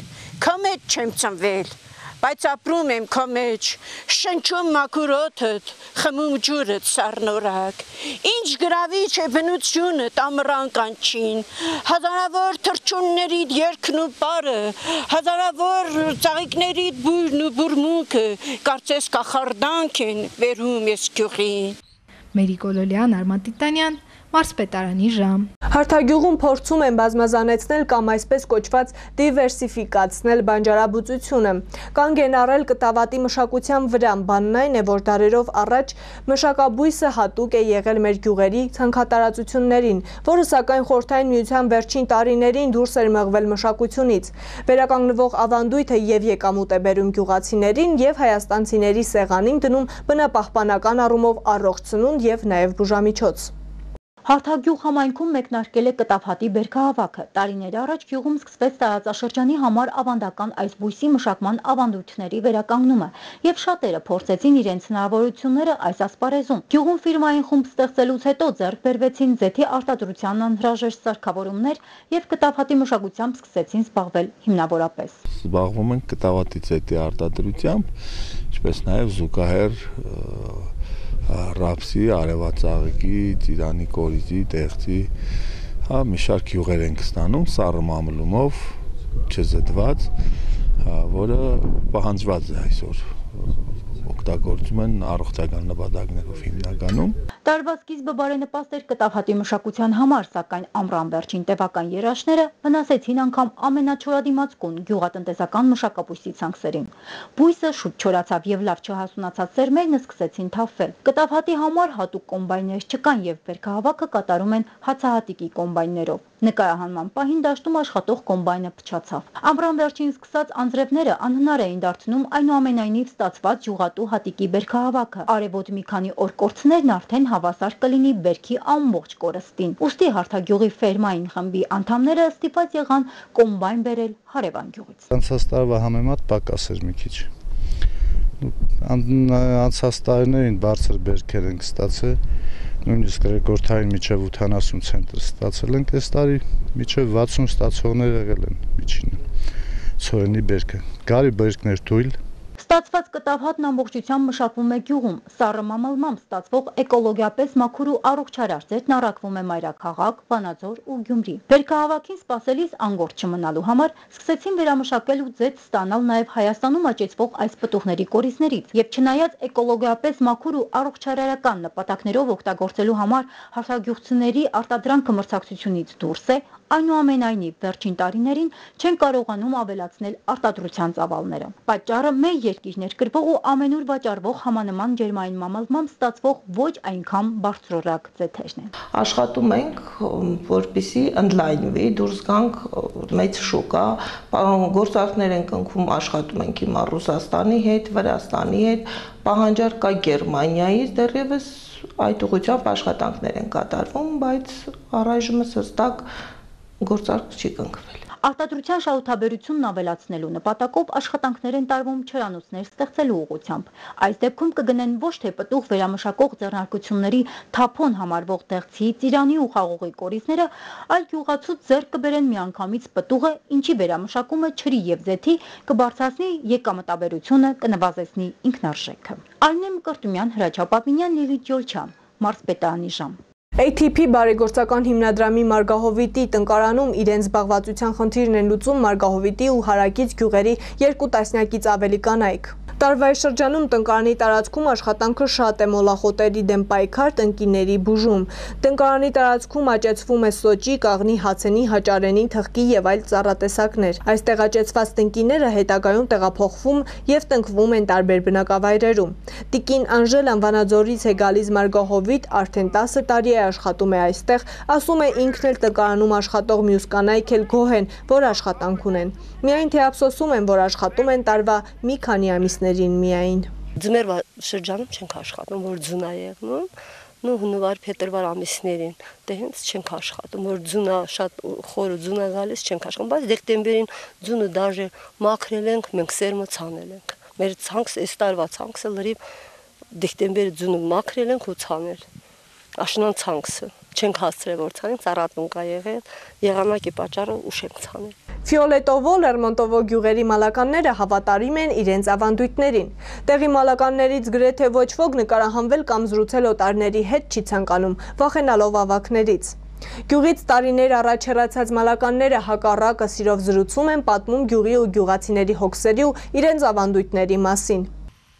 քո մեջ չեմ ծնվել, բայց ապրում եմ քո մեջ, շնչում մաքուր օդդ, խմում ջուրդ սառնորակ, ինչ գրավիչ է բնությունդ ամռան կանչին, հազարավոր թռչուններիդ երգն ու պարը, հազարավոր ծաղիկներիդ բույրն ու բուրմունքը, կարծես կախարդանք են վերում ես գյուղին։ Մերի Կոլոլյան, Արման Տիտանյան, Մարզպետարանի ժամ։ Հարթագյուղում փորձում են բազմազանեցնել կամ այսպես կոչված դիվերսիֆիկացնել բանջարաբուծությունը։ Կանգ են առել կտավատի մշակության վրա, բանն այն է, որ դարերով առաջ մշակաբույսը հատուկ է եղել մեր գյուղերի ցանքատարածություններին, որը սակայն Խորհրդային Միության վերջին տարիներին դուրս էր մղվել մշակությունից։ Վերականգնվող ավանդույթը եւ եկամուտ է բերում գյուղացիներին եւ հայաստանցիների սեղանին դնում բնապահպանական առումով առողջ սնունդ եւ նաեւ բուժամիջոց։ Հարթագյուղ համայնքում մեկնարկել է կտավհատի բերքահավաքը։ Տարիներ առաջ գյուղում սկսվեց տարածաշրջանի համար ավանդական այս բույսի մշակման ավանդույթների վերականգնումը, եւ շատերը փորձեցին իրենց հնարավորությունները այս ասպարեզում։ Գյուղում ֆիրմային խումբ ստեղծելուց հետո ձեռք բերվեցին ձեթի արտադրության անհրաժեշտ սարքավորումներ եւ կտավհատի մշակությամբ սկսեցին զբաղվել հիմնավորապես։ Զբաղվում ենք կտավհատի ձեթի արտադրությամբ, ինչպես նաեւ զուգահեռ ռապսի, արևածաղիկի, ծիրանի կորիզի, տեղծի, հա մի շարք յուղեր ենք ստանում սառը մամլումով, չզդված, որը պահանջված է այսօր, օգտագործում են առողջական նպատակներով հիմնականում։ Տարվա սկիզբը բարենպաստ էր կտավհատի մշակության համար, սակայն ամռան վերջին տևական երաշները վնասեցին անգամ ամենաչորադիմացկուն գյուղատնտեսական մշակաբույսի ցանքերին։ Բույսը շուտ չորացավ եւ լավ չհասունացած սերմերն սկսեցին թափվել։ Կտավհատի համար հատուկ կոմբայներ չկան եւ բերքահավաքը կատարում են հացահատիկի կոմբայներով։ Նկարահանման պահին դաշտում աշխատող կոմբայնը փչացավ։ Ամռան վերջին սկսած անձրևները անհնար էին դարձնում այնուամենայնիվ ստացված յուղատու հատիկի բերքահավաքը։ Արևոտ մի քանի օր կորցներն արդեն հավասար կլինի բերքի ամբողջ կորստին։ Ուստի Հարթագյուղի ֆերմային խմբի անդամները ստիպված եղան կոմբայն բերել հարևան գյուղից։ Անցած տարվա համեմատ պակաս էր մի քիչ։ Անցած տարիներին բարձր բերքեր ենք ստացել, նույնիսկ ռեկորդային միջև ութանասուն ցենտր ստացել ենք, այս տարի միջև վաթսուն ստացողներ եղել են միջինը։ Ցորենի բերքը։ Գարի բերքներ թույլ։ Ստացված կտավհատն ամբողջությամբ մշակվում է գյուղում, սառը մամալմամբ ստացվող էկոլոգիապես մաքուր ու առողջարար ձերքն առաքվում է Մայրաքաղաք, Վանաձոր ու Գյումրի։ Բերքահավաքին սպասելիս անգործ չմնալու համար սկսեցին վերամշակել ու ձեթ ստանալ նաև Հայաստանում աճեցվող այս պտուղների կորիզներից եւ չնայած էկոլոգիապես մաքուր ու առողջարարական նպատակներով օգտագործելու համար հարթագյուղցիների արտադրանքը մրցակցությունից դուրս է, այնուամենայնիվ վերջին տարիներին չեն կարողանում ավելացնել արտադրության ծավալները։ Պատճառը մեր երկիրներ կրվող ու ամենուր վաճառվող համանման ջերմային մամալմամբ ստացվող ոչ այնքան բարձրորակ ձեթերն են։ Աշխատում ենք, որպեսզի ընդլայնվի, դուրս գանք մեծ շուկա, գործարքներ ենք ընկնում, աշխատում ենք հիմա Ռուսաստանի հետ, Վրաստանի հետ, պահանջարկ կա Գերմանիայից, դեռևս այդ ուղղությամբ աշխատանքներ են կատարվում, բայց առայժմ հստակ գործարք չի կնքվել։ Արտադրության շահութաբերությունն ավելացնելու նպատակով աշխատանքներ են տարվում չրանոցներ ստեղծելու ուղղությամբ։ Այս դեպքում կգնեն ոչ թե պտուղ վերամշակող ձեռնարկությունների թափոն համարվող դեղցի, ծիրանի ու խաղողի կորիզները, այլ գյուղացու ձեռք կբերեն միանգամից պտուղը, ինչի վերամշակումը ջրի եւ ձեթի կբարձրացնի եկամտաբերությունը, կնվազեցնի ինքնարժեքը։ Արմինե Մկրտումյան, Հրաչյա Պապինյան, Լիլիթ Ջոլչյան, Մարզպետարանի ժամ։ A T P բարեգործական հիմնադրամի Մարգահովիտի տնկարանում իրենց զբաղվածության խնդիրն են լուծում Մարգահովիտի ու հարակից գյուղերի երկու տասնյակից ավելի կանայք։ Տարվա շրջանում տնկարանի տարածքում աշխատանքը շատ է մոլախոտերի դեմ պայքար, տնկիների բուժում։ Տնկարանի տարածքում աճեցվում է սոճի, կաղնի, հացենի, հաճարենի, թխկի եւ այլ ծառատեսակներ։ Այստեղ աճեցված տնկիները հետագայում տեղափոխվում եւ տնկվում են տարբեր բնակավայրերում։ Տիկին Անժելան Վանաձորից է գալիս Մարգահովիտ, արդեն տասը տարի է աշխատում է այստեղ, ասում է ինքն էլ տնկարանում աշխատող մյուս կանայք էլ գոհ են, որ աշխատանք ունեն։ Միայն թե ափսոսում են, որ աշխատում են տարվա մի քանի ամիսներին միայն։ Ձմեռվա շրջանում չենք աշխատում, որ ձուն է եղնում, նու հունվար, փետրվար ամիսներին, դե հենց չենք աշխատում, որ ձունը շատ խորը ձուն է գալիս, չենք աշխատում, բայց դեկտեմբերին ձունը դաժե մաքրել ենք, մենք սերմը ցանել ենք։ Մեր ցանքս, այս տարվա ցանքսը լրիվ դեկտեմբերի ձունը մաքրել ենք ու ցանել։ Աշնան ցանքսը չենք հասցրել որ ցանենք, ծառատուն կա եղել, եղանակի պատճառով ուշ ենք ցանել։ Ֆիոլետովո, Լերմոնտովո գյուղերի մալականները հավատարիմ են իրենց ավանդույթներին։ Տեղի մալականներից գրեթե ոչ ոք նկարահանվել կամ զրուցել օտարների հետ չի ցանկանում, վախենալով ավակներից։ Գյուղից տարիներ առաջ հեռացած մալականները հակառակը սիրով զրուցում են, պատմում գյուղի ու գյուղացիների հոգսերի ու իրենց ավանդույթների մասին։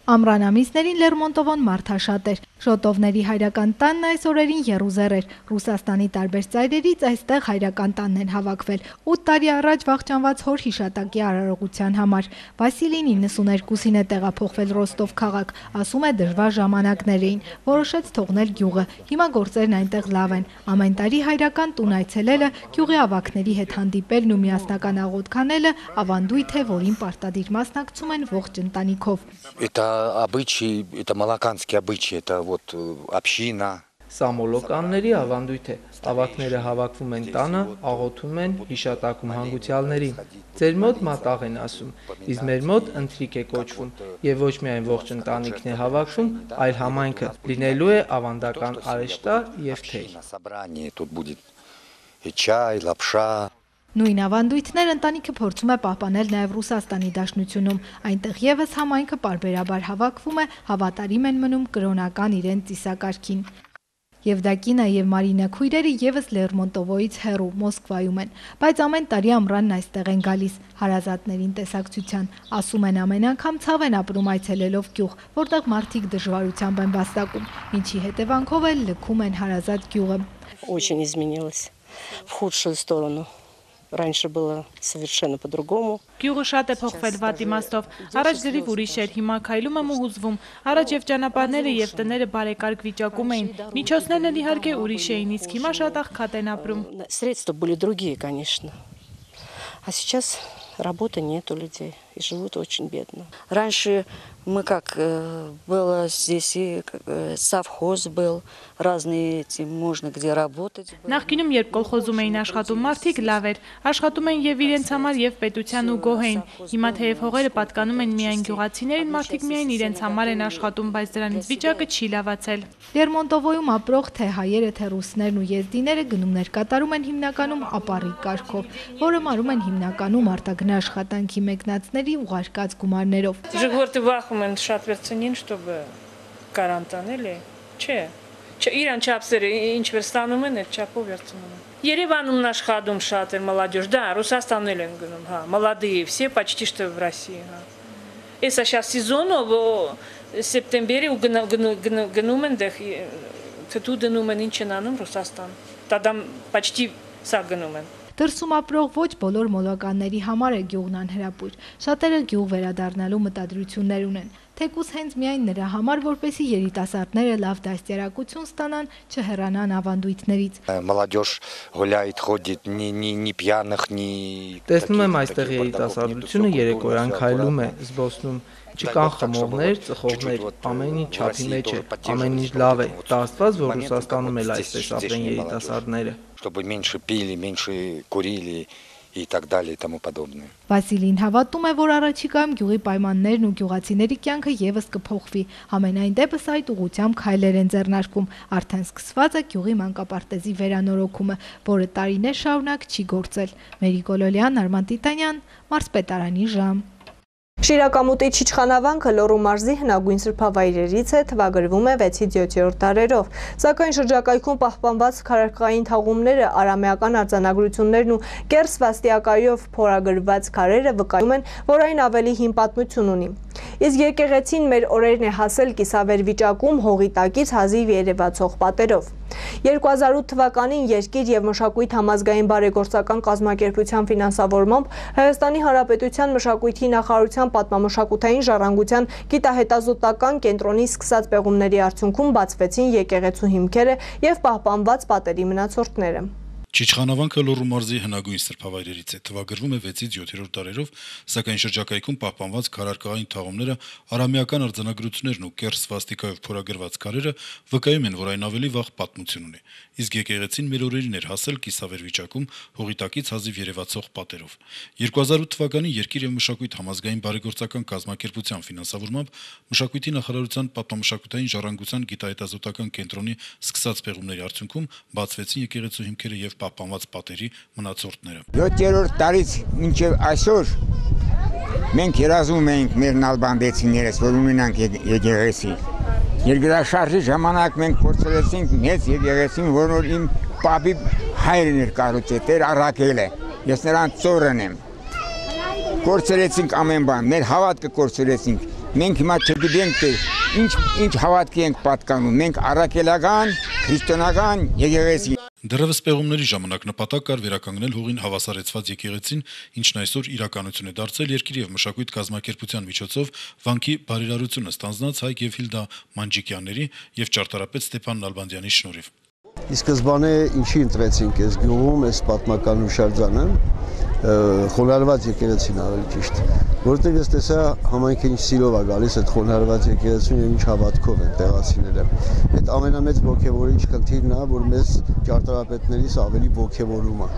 Ամռան ամիսներին Լերմոնտովոն մարդաշատ էր։ Շոտովների հայրական տանն այս օրերին եռուզեռ էր։ Ռուսաստանի տարբեր ծայրերից այստեղ հայրական տանն են հավաքվել։ ութ տարի առաջ վախճանված հոր հիշատակի արարողության համար։ Վասիլին իննսուներկուսին է տեղափոխվել Ռոստով քաղաք, ասում է դժվար ժամանակներ էին, որոշեց թողնել գյուղը։ Հիմա գործերն այնտեղ լավ են։ Ամեն տարի հայրական տուն այցելելը, гյուղի ավակների հետ հանդիպելն ու միասնական աղոթք անելը ավանդույթ է, որին պարտադիր մասնակցում են ողջ ընտանիքով։ Обычай, это малаканский обычай, это вот община. Սա մոլոկանների ավանդույթ է։ Ավակները հավաքվում են տանը, աղոթում են, հիշատակում հանգուցյալներին։ Ձեր մոտ մատաղ են ասում, իսկ մեր մոտ ընթրիք է կոչվում, եւ ոչ միայն ողջ ընտանիքն է հավաքվում, այլ համայնքը լինելու է ավանդական արեշտար եւ թեյ։ Тут будет чай, лапша. Նույն ավանդույթներ ընտանիքը փորձում է պահպանել նաև Ռուսաստանի Դաշնությունում։ Այնտեղ եւս համայնքը պարբերաբար հավաքվում է, հավատարիմ են մնում կրոնական իրենց ծիսակարգին։ Եվդակինա եւ Մարինա քույրերը եւս Լերմոնտովոյից հեռու Մոսկվայում են, բայց ամեն տարի ամռանն այստեղ են գալիս հարազատներին տեսակցության։ Ասում են ամեն անգամ ցավ են ապրում այցելելով գյուղ, որտեղ մարդիկ դժվարությամբ են վաստակում, ինչի հետևանքով էլ լքում են հարազատ գյուղը։ Очень изменилось в худшую сторону. Раньше было совершенно по-другому. Գյուղը շատ է փոխվել վատ իմաստով։ Առաջ գրիվ ուրիշ էր, հիմա քայլում եմ ու հուզվում։ Առաջ եւ ճանապարհները եւ տները բարեկարգ վիճակում էին։ Միջոցներն էլ իհարկե ուրիշ էին, իսկ հիմա շատ աղքատ են ապրում։ Средства были другие, конечно. А сейчас работы нет у людей и живут очень бедно. Раньше Мы как было здесь и совхоз был, разные эти, можно где работать. Նախկինում երբ կոլխոզում էին աշխատում մարդիկ, լավ էր, աշխատում էին եւ իրենց համար եւ պետության ու գոհ էին։ Հիմա թեև հողերը պատկանում են միայն գյուղացիներին, մարդիկ միայն իրենց համար են աշխատում, բայց դրանից վիճակը չի լավացել։ Լերմոնտովոյում ապրող թե հայերը, թե ռուսներն ու եզդիները գնումներ կատարում են հիմնականում ապառիկ կարգով, որը մարում են հիմնականում արտագնա աշխատանքի մեկնածների ուղարկած գումարներով։ Ժողովուրդը վախում են շատ վերցնին, чтобы կարանտան էլի, չէ։ Իրան չափսերը ինչպես ստանում են, այդ չափով վերցնում են։ Երևանում աշխատում շատ են молодежь, да, Ռուսաստանն են գնում, հա, молодые все почти что в России, հա։ Էսա сейчас сезону в սեպտեմբերի ու գնում են դեղ թթու դնում են ինչ են անում Ռուսաստան։ Տադա почти սա գնում են։ Դրսում ապրող ոչ բոլոր մոլականների համար է գյուղն անհրապույր։ Շատերը գյուղ վերադառնալու մտադրություններ ունեն։ Թեկուզ հենց միայն նրա համար, որպեսզի երիտասարդները լավ դաստիարակություն ստանան, չհեռանան ավանդույթներից։ Молодежь гуляет, ходит, ни ни ни пьяных, ни Տեսնում եմ այստեղ երիտասարդությունը երեկոյան քայլում է, զբոսնում։ Չկան խմողներ, ծխողներ, ամեն ինչ չափի մեջ է, ամեն ինչ լավ է։ Դա Աստված, որ Ռուսաստանում էլ այսպես ապրեն երիտասարդները։ Чтобы меньше пили, меньше курили и так далее и тому подобное. Վասիլին հավատում է, որ առաջիկայում գյուղի պայմաններն ու գյուղացիների կյանքը եւս կփոխվի։ Համենայն դեպս այդ ուղղությամբ քայլեր են ձեռնարկում։ Արդեն սկսված է գյուղի մանկապարտեզի վերանորոգումը, որը տարիներ շարունակ չի գործել։ Մերի Գոլոլյան, Արման Տիտանյան, Մարզպետարանի ժամ։ Շիրակամուտի Չիչխանավանքը Լոռու մարզի հնագույն սրբավայրերից է, թվագրվում է վեցից յոթերորդ դարերով, սակայն շրջակայքում պահպանված քարայրկային թաղումները, արամեական արձանագրություններն ու կեռ սվաստիակայով փորագրված քարերը վկայում են, որ այն ավելի հին պատմություն ունի։ Իսկ եկեղեցին մեր օրերն է հասել կիսավեր վիճակում հողի տակից հազիվ երևացող պատերով։ երկու հազար ութ թվականին Երկիր եւ մշակույթ համազգային բարեգործական կազմակերպության ֆինանսավորմամբ Հայաստանի Հանրապետության մշակույթի նախարարության պատմամշակութային ժառանգության գիտահետազոտական կենտրոնի սկսած պեղումների արդյունքում բացվեցին եկեղեցու հիմքերը եւ պահպանված պատերի մնացորդները։ Չիչխանավանքը Լոռու մարզի հնագույն սրբավայրերից է, թվագրվում է վեցից յոթերորդ դարերով, սակայն շրջակայքում պահպանված քարայրկային թաղումները, արամեական արձանագրություններն ու կեռ սվաստիկայով փորագրված քարերը վկայում են, որ այն ավելի վաղ պատմություն ունի։ Իսկ եկեղեցին մեր օրերին էր հասել կիսավեր վիճակում հողի տակից հազիվ երևացող պատերով։ երկու հազար ութ թվականին Երկիր եւ մշակույթ համազգային բարեգործական կազմակերպության ֆինանսավորմամբ մշակույթի նախարարության պատմամշակութային ժառանգության գիտահետազոտական կենտրոնի սկսած պեղումների արդյունքում բացվեցին եկեղեցու հիմքերը եւ պահպանված պատերի մնացորդները։ յոթերորդ տարից մինչև այսօր մենք երազում ենք մեր նալբանդեցիներս, որ ունենանք եկեղեցի։ Երկրաշարժի ժամանակ մենք փորձեցինք մեծ եկեղեցին, որն իմ պապի հայրն էր կառուցել, Տեր Առաքելը։ Ես նրան ծորն եմ։ Կորցրեցինք ամեն բան, մեր հավատքը կորցրեցինք։ Մենք հիմա չգիտենք, թե ինչ ինչ հավատքի ենք պատկանում։ Մենք առաքելական, քրիստոնեական եկեղեցի։ Դեռևս պեղումների ժամանակ նպատակ կար վերականգնել հողին հավասարեցված եկեղեցին, ինչն այսօր իրականություն է դարձել Երկիր եւ մշակույթ կազմակերպության միջոցով վանքի բարերարությունը ստանձնած Հայկ եւ Հիլդա Մանջիկյանների եւ ճարտարապետ Ստեփան Նալբանդյանի շնորհիվ։ Ի սկզբանե ինչի ընտրեցինք այս գյուղում, այս պատմական հուշարձանը, խոնարհված եկեղեցին ավելի ճիշտ, որովհետև ես տեսա համայնքը ինչ սիրով է գալիս այդ խոնարհված եկեղեցին եւ ինչ հավատքով են տեղացիները։ Այդ ամենամեծ ողջևորիչ խնդիրն է, որ մեզ ճարտարապետներից ավելի ողջևորում է։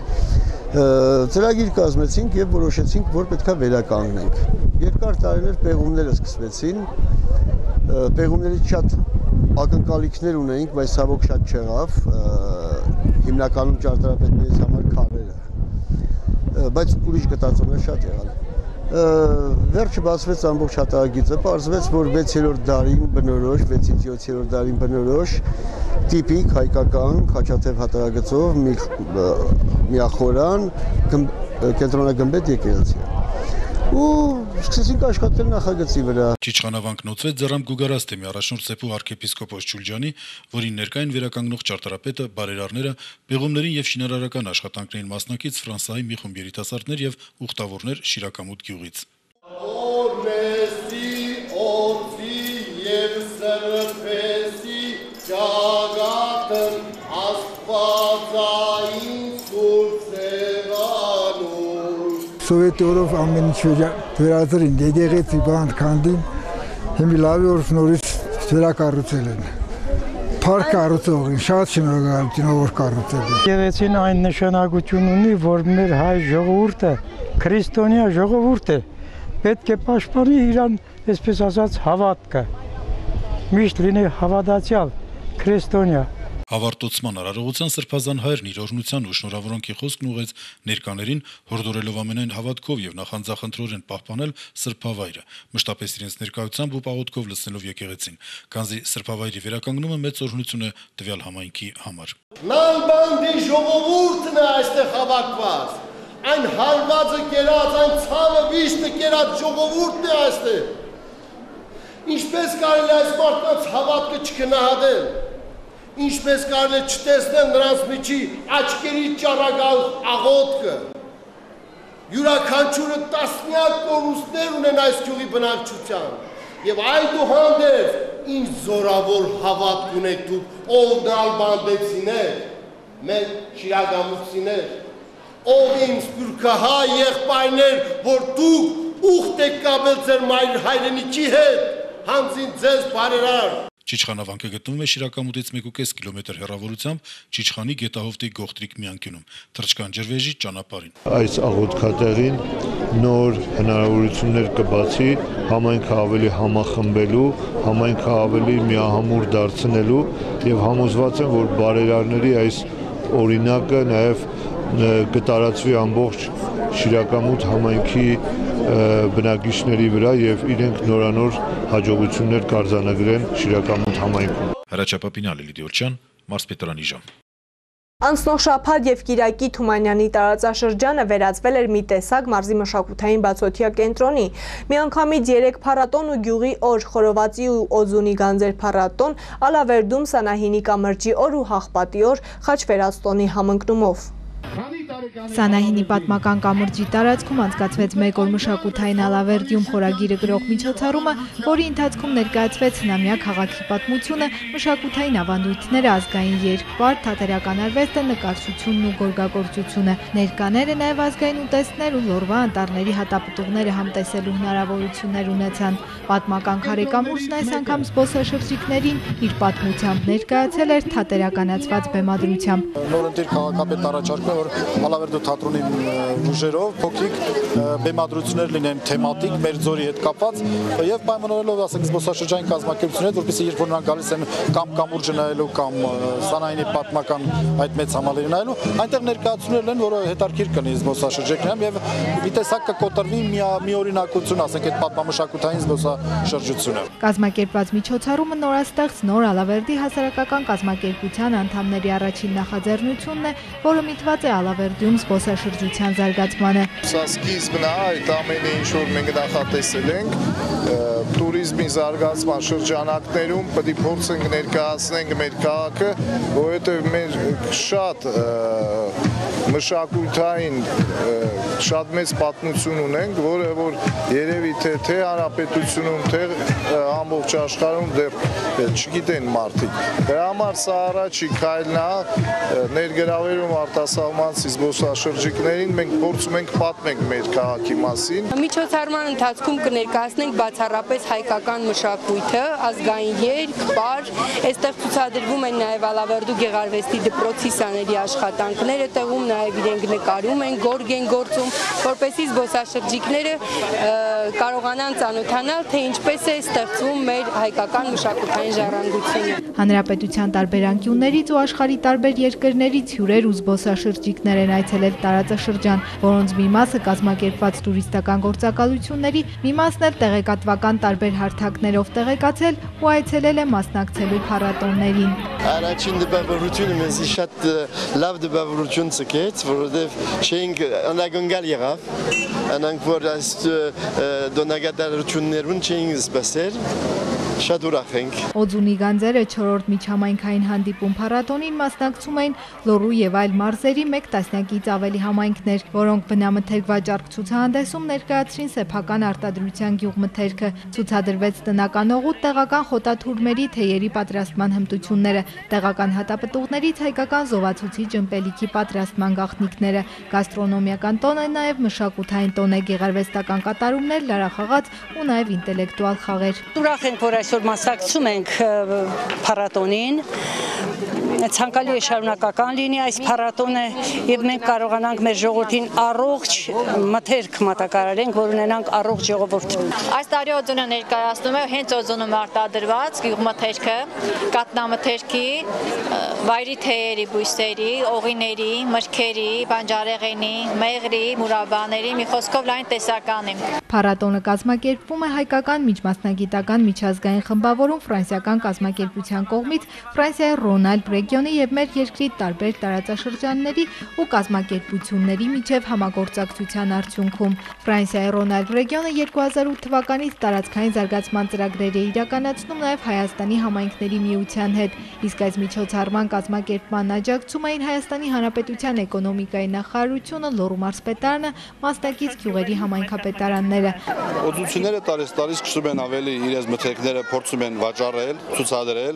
Ծրագիր կազմեցինք եւ որոշեցինք, որ պետքա վերականգնենք։ Երկար տարիներ պեղումները սկսվեցին, պեղումներից շատ ակնկալիքներ ունեինք, բայց ցավոք շատ չեղավ, հիմնականում ճարտարապետներից համար քարերը, բայց ուրիշ գտածոներ շատ եղան։ Վերջը բացվեց ամբողջ հատակագիծը, պարզվեց, որ վեցերորդ դարին բնորոշ, վեցից յոթերորդ դարին բնորոշ տիպիկ հայկական խաչաթև հատակագծով միախորան կենտրոնագմբեթ եկեղեցի է։ Ու սկսեցինք աշխատել նախագծի վրա։ Չիչխանավանքն ոցվեց Ձեռամ Գուգարաստեմի առաջնորդ Սեփու arczepiskopos Ջուլջանի, որին ներկային վերականգնող ճարտարապետը, բարերարները, պեղումներին եւ շինարարական աշխատանքներին մասնակից Ֆրանսիայի մի խումբ երիտասարդներ եւ ուխտավորներ Շիրակամուտ գյուղից։ Սովետի օրով ամեն ինչ վերածրին, եկեղեցի բանտ քանդին, Հիմի լավ որ նորից վերակառուցել են։ Փառք կառուցողին, շատ շնորհակալություն որ կառուցել են։ Եկեղեցին այն նշանակություն ունի, որ մեր հայ ժողովուրդը քրիստոնյա ժողովուրդ է, պետք է պաշտպանի իրան, այսպես ասած, հավատքը։ Միշտ լինի հավատացյալ, քրիստոնյա։ Հավարտոցման արարողության Սրբազան հայրն իր օրհնության ու շնորհավորանքի խոսքն ուղղեց ներկաներին, հորդորելով ամենայն հավատքով եւ նախանձախնդրորեն պահպանել սրբավայրը, մշտապես իրենց ներկայությամբ ու պաղոտքով լցնելով եկեղեցին, քանզի սրբավայրի վերականգնումը մեծ օրհնություն է տվյալ համայնքի համար։ Նալբանդի ժողովուրդն է այստեղ հավաքված, այն հարվածը կերած, այն ցավը վիշտը կերած ժողովուրդն է այստեղ։ Ինչպես կարելի այս մարդկանց հավատքը չգնահատել։ Ինչպես կարելի է չտեսնել նրանց միջի աչքերի ճառագալ աղոթքը։ Յուրաքանչյուրը տասնյակ կորուստներ ունեն այս գյուղի բնակչության։ Եվ այդուհանդերձ ինչ զորավոր հավատք ունեք դուք ով նալբանդեցիներ, մեր շիրակամուտցիներ, ով իմ սփյուռքահայ եղբայրներ, որ դուք ուխտ եք կապել ձեր մայր հայրենիքի հետ, հանձին ձեզ բարերար։ Չիչխանավանքը գտնվում է Շիրակամուտից մեկ ու կես կիլոմետր հեռավորությամբ Չիչխանի Գետահովտի Գողտրիկ միանկյունում, Թրջկան ջրվեժի ճանապարհին։ Այս աղոթքատեղին նոր հնարավորություններ կբացի համայնքը ավելի համախմբելու, համայնքը ավելի միահամուռ դարձնելու եւ համոզված եմ, որ բարերարների այս օրինակը նաեւ կտարածվի ամբողջ Շիրակամուտ համայնքի բնակիչների վրա եւ իրենք նորանոր հաջողություններ կարձանագրեն Շիրակամուտ համայնքում։ Հրաչյա Պապինյանը, Լիդիա Օլչյան, Մարզպետարանի ժամ։ Անցնող շաբաթ եւ Կիրակի Թումանյանի տարածաշրջանը վերածվել էր մի տեսակ մարզի մշակութային բացօթյա կենտրոնի։ Միանգամից երեք փառատոն ու գյուղի օր, խորովածի ու օձունի գանձեր փառատոն, Ալավերդում Սանահինի կամրջի օր ու Հաղպատի օր Խաչվերածտոնի համընկնումով։ Սանահինի պատմական կամրջի տարածքում անցկացվեց մեկ օր մշակութային Ալավերդիում խորագիրը գրող միջոցառումը, որի ընթացքում ներկայացվեց հնամյա քաղաքի պատմությունը, մշակութային ավանդույթները, ազգային երկպար, թատերական արվեստը, նկարչությունն ու գորգագործությունը։ Ներկաները նաև ազգային ուտեստներ ու լորվա անտառների հատապտուղները համտեսելու հնարավորություններ ունեցան։ Պատմական քարեկամուրջն այս անգամ զբոսաշրջիկներին իր պատմությամբ ներկայացել էր թատերականացված բեմադրությամբ։ Նորընտիր քաղաքապետ առաջարկում է, որ Ալավերդու թատրոնի ուժերով փոքրիկ բեմադրություններ լինեն թեմատիկ, մեր ձորի հետ կապված եւ պայմանավորելով, ասենք, զբոսաշրջային կազմակերպություններ, որպեսզի երբ որ նրանք գալիս են կամ կամուրջը նայելու կամ Սանահինի պատմական այդ մեծ համալիրը նայելու, այնտեղ ներկայացումներ են, որը հետաքրքիր կլինի զբոսաշրջիկներին եւ մի տեսակ կկոտրվի մի օրինակություն, ասենք, այդ պատմամշակութային զբոսաշրջությունը։ Կազմակերպված միջոցառումը նորաստեղծ նոր Ալավերդի հասարակական կազմակերպության անդամների առաջին նախաձեռնությունն է, որը միտված է Ալավերդիում զբոսաշրջության զարգացմանը։ Սա սկիզբն է այդ ամենը, ինչ որ մենք նախատեսել ենք, տուրիզմի զարգացման շրջանակներում պետք է փորձենք ներկայացնենք մեր քաղաքը, որովհետև մեր շատ մշակութային շատ մեծ պատմություն ունենք, որը որ երևի թե թե հանրապետությունում, թե ամբողջ աշխարհում դեռ չգիտեն մարդիկ։ Դրա համար սա առաջի քայլն է ներգրավելու արտասահմանցի զբոսաշրջիկներին, մենք փորձում ենք պատմենք մեր քաղաքի մասին։ Միջոցառման ընթացքում կներկայացնենք բացառապես հայկական մշակույթը, ազգային երգ, պար, այստեղ ցուցադրվում են նաև Ալավերդու գեղարվեստի դպրոցի սաների աշխատանքները, տեղում նաև իրենք նկարում են, գորգ են գործում, որպեսզի զբոսաշրջիկները կարողանան ծանոթանալ, թե ինչպես է ստեղծվում մեր հայկական մշակութային ժառանգությունը։ Հանրապետության տարբեր անկյուններից ու աշխարհի տարբեր երկրներից հյուրեր ու զբոսաշրջիկներ են այցելել տարածաշրջան, որոնց մի մասը կազմակերպված տուրիստական գործակալությունների, մի մասն էլ տեղեկատվական տարբեր հարթակներով տեղեկացել ու այցելել է մասնակցելու փառատոններին։ Առաջին դպավորությունը մեզ շատ լավ դպավորություն ցկեց, որովհետև չէինք անդագնգալ եղավ, անանք որ այս դոնագադարություններուն չէինք սպասել, Շատ ուրախ ենք։ Օձունի գանձերը չորրորդ միջհամայնքային հանդիպում փառատոնին մասնակցում էին Լոռու եւ այլ մարզերի մեկ տասնյակից ավելի համայնքներ, որոնք բնամթերք վաճառք ցուցահանդեսում ներկայացրին սեփական արտադրության գյուղմթերքը, ցուցադրվեց տնական օղուտ, տեղական խոտաթուրմերի թեյերի պատրաստման հմտությունները, տեղական հատապտուղներից հայկական զովացուցիչ ըմպելիքի պատրաստման գաղտնիքները, գաստրոնոմիական տոն է նաեւ մշակութային տոն է, գեղարվեստական կատարումներ, լարախաղաց ու նաեւ ինտելեկտուալ խաղեր։ Ուրախ ենք, որ այսօր մասնակցում ենք փառատոնին, ցանկալի է շարունակական լինի այս փառատոնը եւ մենք կարողանանք մեր ժողովրդին առողջ մթերք մատակարարենք, որ ունենանք առողջ ժողովուրդ։ Այս տարի Օձունը ներկայացնում է հենց Օձունում արտադրված գյուղմթերքը, կատնամթերքի, վայրի թեյերի, բույսերի, օղիների, մրգերի, բանջարեղենի, մեղրի, մուրաբաների, մի խոսքով լայն տեսականի։ Փառատոնը կազմակերպվում է հայկական միջմասնագիտական միջազգային խմբավորում ֆրանսիական կազմակերպության կողմից Ֆրանսիայի Ռոնալդ ռեգիոնի եւ մեր երկրի տարբեր տարածաշրջանների ու կազմակերպությունների միջև համագործակցության արդյունքում։ Ֆրանսիայի Ռոնալդ ռեգիոնը երկու հազար ութ թվականից տարածքային զարգացման ծրագրեր է իրականացնում նաեւ Հայաստանի համայնքների միության հետ, իսկ այս միջոցառման կազմակերպման աջակցում էին Հայաստանի Հանրապետության էկոնոմիկայի նախարարությունը, Լոռու մարզպետարանը, մասնակից գյուղերի համայնքապետարանները։ Օձունները տարես տարի սկսում են ավելի իրենց մթերքները փորձում են վաճառել, ցուցադրել,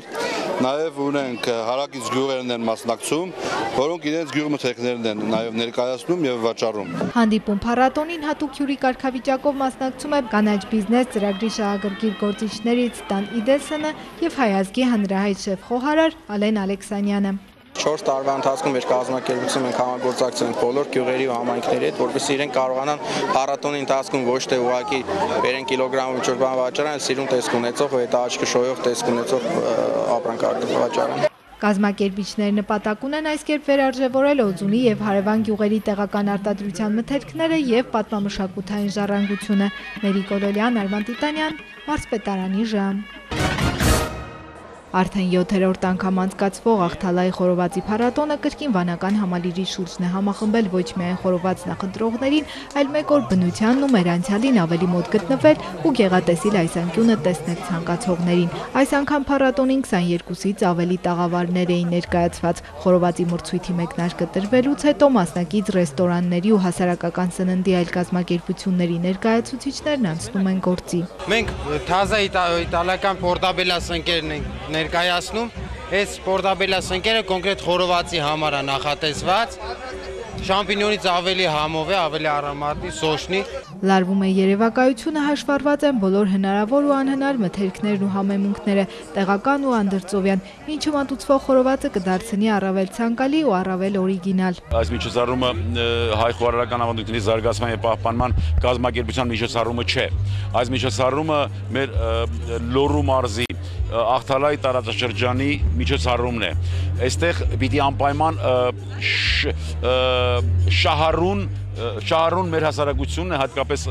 նաև ունենք հարակից գյուղերն են մասնակցում, որոնք իրենց գյուղմթերքներն են նաև ներկայացնում եւ վաճառում։ Հանդիպում փառատոնին հատուկ հյուրի կարգավիճակով մասնակցում է կանաչ բիզնես ծրագրի շահագրգիռ գործիչներից Տան Իդեսենը եւ Հայազգի հանրահայտ շեֆ-խոհարար Ալեն Ալեքսանյանը։ չորս տարվա ընթացքում մեր կազմակերպությունը մենք համագործակցում ենք բոլոր գյուղերի ու համայնքների հետ, որպեսզի իրենք կարողանան փառատոնի ընթացքում ոչ թե ուղղակի բերեն կիլոգրամով ինչ-որ բան վաճառեն, այլ սիրուն տեսք ունեցող, հետ աչքը շոյող տեսք ունեցող ապրանք վաճառեն։ Կազմակերպիչները նպատակ ունեն այս կերպ վերարժևորել Օձունի եւ հարևան գյուղերի տեղական արտադրության մթերքները եւ պատմամշակութային ժառանգությունը։ Մերի Կոլոլյան, Արման Տիտանյան, մարզպետարանի ժամ։ Արդեն յոթերորդ անգամ անցկացվող Աղթալայի խորովածի փառատոնը կրկին վանական համալիրի շուրջն է համախմբել ոչ միայն խորոված նախընտրողներին, այլ մեկ օր բնությանն ու մեր անցյալին ավելի մոտ գտնվել ու գեղատեսիլ այս անկյունը տեսնել ցանկացողներին։ Այս անգամ փառատոնին քսաներկուսից ավելի տաղավարներ էին ներկայացված։ Խորովածի մրցույթի մեկնարկը տրվելուց հետո մասնակից ռեստորանների ու հասարակական սննդի այլ կազմակերպությունների ներկայացուցիչներն անցնում են գործի։ Մենք թազա իտալական պորտաբելա սնկերն ենք ներկայացնում, այս պորտաբելա սնկերը կոնկրետ խորովածի համար է նախատեսված, շամպինյոնից ավելի համով է, ավելի առամարտի, սոշնի։ Լարվում է երևակայությունը, հաշվառված են բոլոր հնարավոր ու անհնար մթերքներն ու համեմունքները, տեղական ու անդրծովյան, ինչը մատուցվող խորովածը կդարձնի առավել ցանկալի ու առավել օրիգինալ։ Այս միջոցառումը հայ խոհարարական ավանդույթների զարգացման եւ պահպանման կազմակերպության միջոցառումը չէ։ Այս միջոցառումը մեր Լոռու մարզի Աղթալայի տարածաշրջանի միջոցառումն է։ Այստեղ պիտի անպայման շահառուն շահառուն մեր հասարակությունն է, հատկապես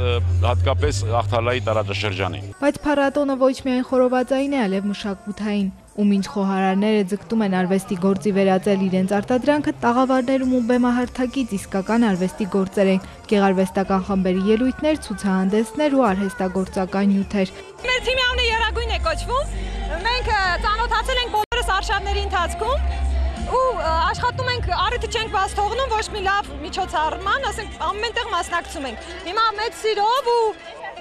հատկապես Աղթալայի տարածաշրջանի։ Բայց փառատոնը ոչ միայն խորովածային է, այլև մշակութային։ Ու մինչ խոհարարները ձգտում են արվեստի գործի վերածել իրենց արտադրանքը, տաղավարներում ու բեմահարթակից իսկական արվեստի գործեր են, գեղարվեստական խմբերի ելույթներ, ցուցահանդեսներ ու արհեստագործական նյութեր։ Մեր թիմի անունը Եռագույն է կոչվում։ Մենք ծանոթացել ենք բոլորս արշավների ընթացքում ու աշխատում ենք, առիթը չենք բաց թողնում ոչ մի լավ միջոցառման, ասենք ամեն տեղ մասնակցում ենք։ Հիմա մեծ սիրով ու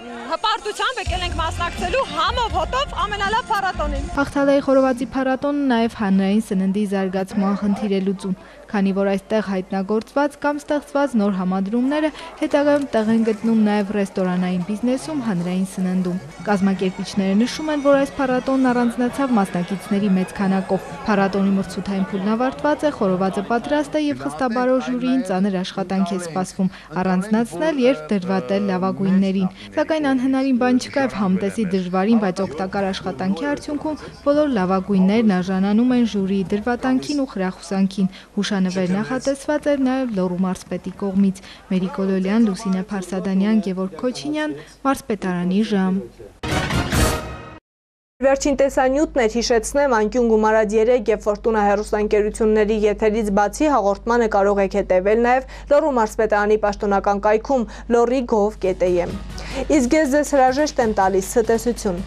հպարտությամբ եկել ենք մասնակցելու համով հոտով ամենալավ փառատոնին։ Աղթալայի խորովածի փառատոնը նաև հանրային սննդի զարգացման խնդիր է լուծում, քանի որ այստեղ հայտնագործված կամ ստեղծված նոր համադրումները հետագայում տեղ են գտնում նաև ռեստորանային բիզնեսում, հանրային սննդում։ Կազմակերպիչները նշում են, որ այս փառատոնն առանձնացավ մասնակիցների մեծ քանակով։ Փառատոնի մրցութային փուլն ավարտված է, խորովածը պատրաստ է եւ խստաբարո ժյուրիին ծանր աշխատանք է սպասվում առանձնացնել եւ դրվատել լավագույններին։ Սակայն անհնարին բան չկա եւ համտեսի դժվարին, բայց օգտակար աշխատանքի արդյունքում բոլոր լավագույններն արժանանում են ժյուրիի դրվատանքին ու խրախուսանքին։ Հուշանվեր նախատեսված էր նաեւ Լոռու մարզպետի կողմից։ Մերի Կոլոլյան, Լուսինե Փարսադանյան, Գևորգ Քոչինյան, մարզպետարանի ժամ։ Վերջին տեսանյութն էր, հիշեցնեմ, անկյուն գումարած երեք եւ Ֆորտունա հեռուստաընկերությունների եթերից բացի հաղորդմանը կարող եք հետևել նաեւ Լոռու մարզպետարանի պաշտոնական կայքում լոռի գով կետ է։ Իսկ ես ձեզ հրաժեշտ եմ տալիս ցտեսություն։